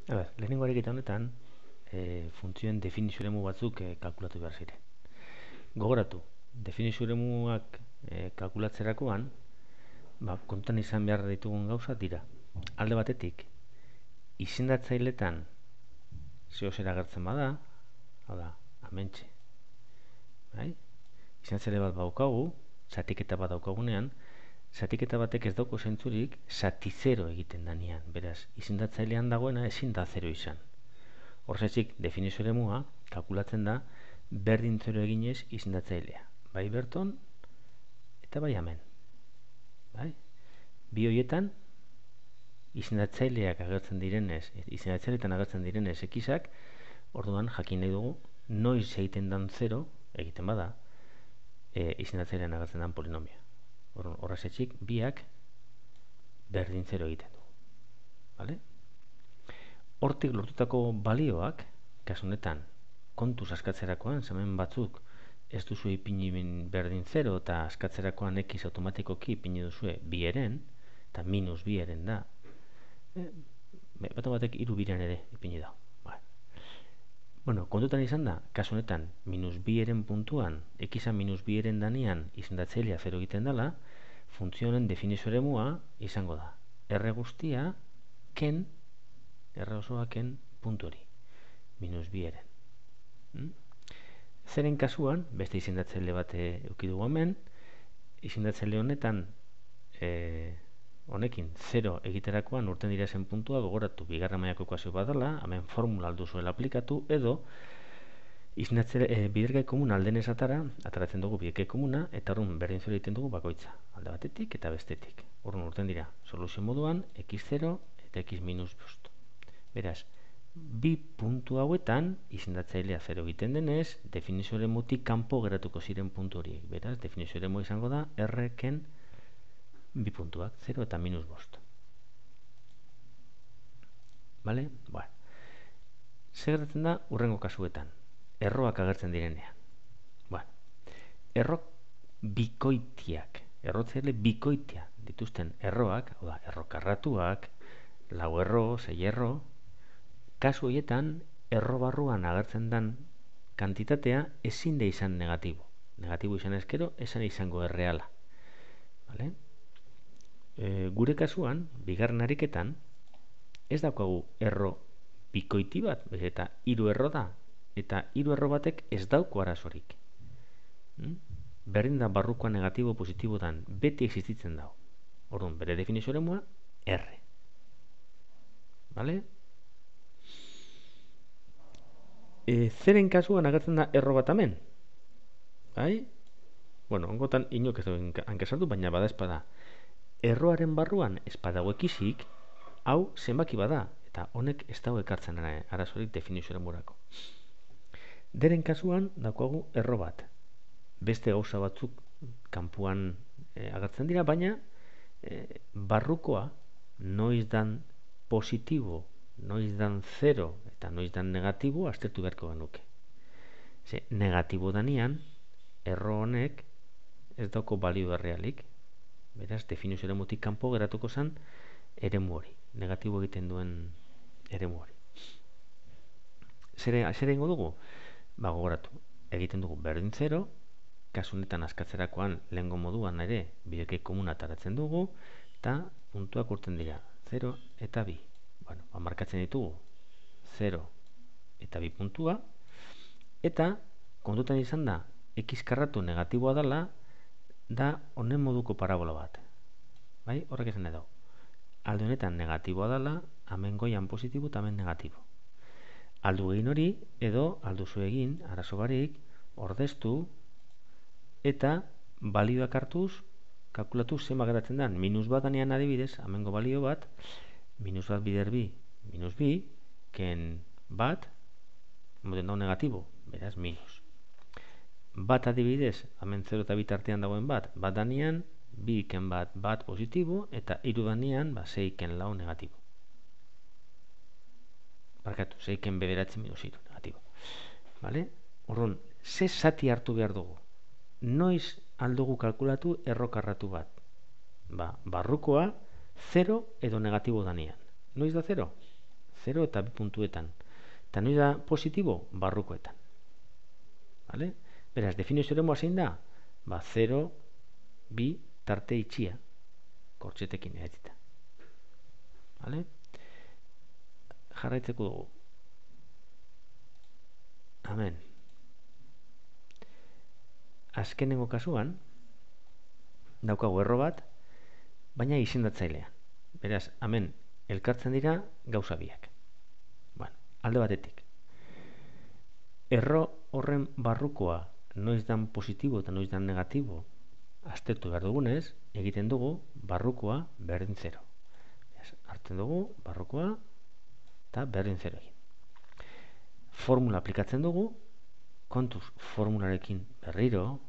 Lehenengo ariketa honetan, funtzioen definizio eremu batzuk kalkulatu behar ziren. Gogoratu, definizio eremuak kalkulatzerakoan, kontutan izan behar ditugun gauza dira. Alde batetik, izendatzailetan zehozera agertzen bada, hau da, amentxe. Izendatzaile bat daukagu, zatiketa bat daukagunean, zatiketa batek ez dauko zentzurik zati zero egiten danean. Beraz, izendatzailean dagoena ezin da zero izan. Horrezik, definizio eremua kalkulatzen da berdin zero eginez izendatzailea. Bai berton eta bai hemen. Bi horietan, izendatzaileak agertzen direnez, izendatzaileetan agertzen direnez ekizak, orduan jakin nahi dugu noiz egiten dan zero, egiten bada, izendatzailean agertzen dan polinomia. Horrezik, biak berdin zero egiten du. Hortik lortutako balioak, kasu honetan, kontuz askatzerakoan, hemen batzuk ez duzu ipini berdin zero eta askatzerakoan x automatikoki ipini duzue bieren, eta minus bieren da. Batek iru biren ere ipini da. Kontutan izan da, kasu honetan, minus bieren puntuan, x-a minus bieren danean izendatzailea zero egiten dela, funtzionen definizio eremua izango da. R guztia, ken, R osoa ken puntu hori, minus bieren. Zeren kasuan, beste izendatzaile bat eukidugu hemen, izendatzaile honetan, honekin, 0 egiterakoan urten dira zen puntua, gogoratu bigarren mailako ekuazio bat dela, hemen formula aldu zuela aplikatu, edo bidergai komuna alden esatara, ataratzen dugu bidergai komuna, eta horren berdin zero egiten dugu bakoitza, alde batetik eta bestetik. Horren urten dira, soluzio moduan, x0 eta x minus bost. Beraz, bi puntu hauetan, izendatzailea 0 egiten denez, definizio eremutik kanpo geratuko ziren puntu horiek. Beraz, definizio eremu izango da, r-ken bi puntuak, 0 eta minus bost. Zer gertatzen da urrengo kasuetan? Erroak agertzen direnean. Errok bikoitiak, errotzaile bikoitia dituzten erroak, erro karratuak, lau erro, sei erro, kasu horietan, erro barruan agertzen den kantitatea ezin da izan negatibo. Negatibo izan ezkero, esan izango erreala. Gure kasuan, bigarren ariketan, ez daukagu erro bikoiti bat, eta hiru erro da, eta hiru erro batek ez dauko arazorik. Berdin da barrukoa negatibo positibo dan, beti existitzen dago. Orduan, bere definizio eremua, R. Zeren kasuan agertzen da erro bat hemen? Ongotan inok ez dugu hankesartu, baina bada espada. Erroaren barruan espadago ekisik, hau zenbaki bada, eta honek ez dago ekartzen arazorik definizio eremurako. Deren kasuan daukagu erro bat. Beste gauza batzuk kanpuan agertzen dira, baina barrukoa noiz dan positibo, noiz dan 0 eta noiz dan negatibo aztertu beharko genuke. Negatibo danean, erro honek ez dauko balio errealik. Beraz, definizio eremutik kanpo geratuko zen eremu hori, negatibo egiten duen eremu hori. Zer egingo dugu? Gogoratu, egiten dugu berdin 0, kasu honetan askatzerakoan lehengo moduan ere bidergai komuna ataratzen dugu, eta puntuak urten dira 0 eta 2. Markatzen ditugu 0 eta 2 puntua, eta kontutan izan da, x karratu negatiboa dela, da honen moduko parabola bat. Horrek esan edo. Alde honetan negatiboa dela, hemen goian positibo eta hemen negatibo. Aldu egin hori, edo alduzu egin, arazo barik, ordeztu, eta balioak hartuz, kalkulatu zenba geratzen den. Minus bat danean adibidez, hemengo balio bat, minus bat bider bi, minus bi, ken bat, moden dago negatibo, beraz minus. Bat adibidez, hemen 0 eta 2 artean dagoen bat danean, 2 ken bat positibo, eta 3 danean, 6 ken lau negatibo. 6 ken bederatzen minus 3 negatibo. Horron, ze zati hartu behar dugu? Noiz aldugu kalkulatu erro karratu bat? Barrukoa 0 edo negatibo danean. Noiz da 0? 0 eta bi puntuetan. Eta noiz da positibo? Barrukoetan. Vale? Beraz, definizio eremua zein da? 0, 2, tarte itxia. Kortxetekin edatita. Vale? Jarraitzeko dugu. Hemen. Azkenengo kasuan, daukagu erro bat, baina izendatzailea. Beraz, hemen elkartzen dira gauza biak. Bueno, alde batetik. Erro horren barrukoa noiz dan positibo eta noiz dan negatibo aztertu behar dugunez, egiten dugu barrukoa berdin 0. Hartzen dugu barrukoa eta berdin 0 egin. Formula aplikatzen dugu, kontuz formularekin berriro,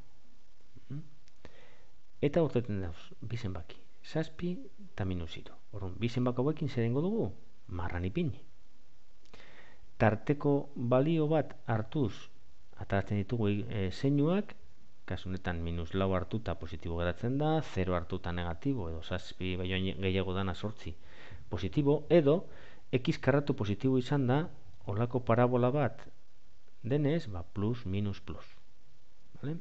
eta urteten dauz, bi zenbaki, 7 eta -3. Orduan, bi zenbaki hauekin zer egingo dugu? Marran ipini. Tarteko balio bat hartuz, ataratzen ditugu zeinuak, kasu honetan -4 hartuta positibo geratzen da, 0 hartuta negatibo, edo 7 baino gehiago dana 8 positibo, edo x karratu positibo izan da, olako parabola bat denez, plus, minus, plus. Vale?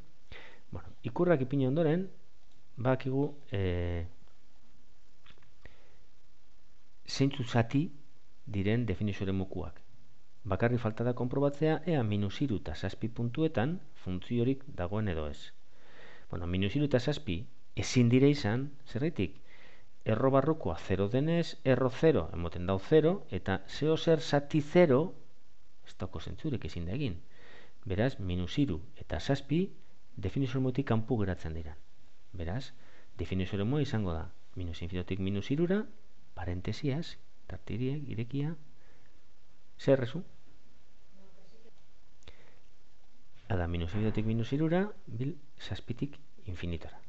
Bueno, ikurrak ipini ondoren, bakigu zeintzu zati diren definizio eremukuak. Bakarri falta da konprobatzea ea -3 eta 7 puntuetan funtziorik dagoen edo ez. Bueno, -3 eta 7 ezin dire izan, zerraitik? Erro barrukoa 0 denez, erro 0 emoten dau 0, eta zeo zer zati 0 ez dauko zentzurek ezin da egin. Beraz, -3 eta 7 definizio eremutik kanpo geratzen dira. Beraz, definizio eremua izango da -infinitik -3ra, parentesiaz, tartiriek, irekia, zer rezu? Ada, -infinitik -3ra, bil 7tik infinitora.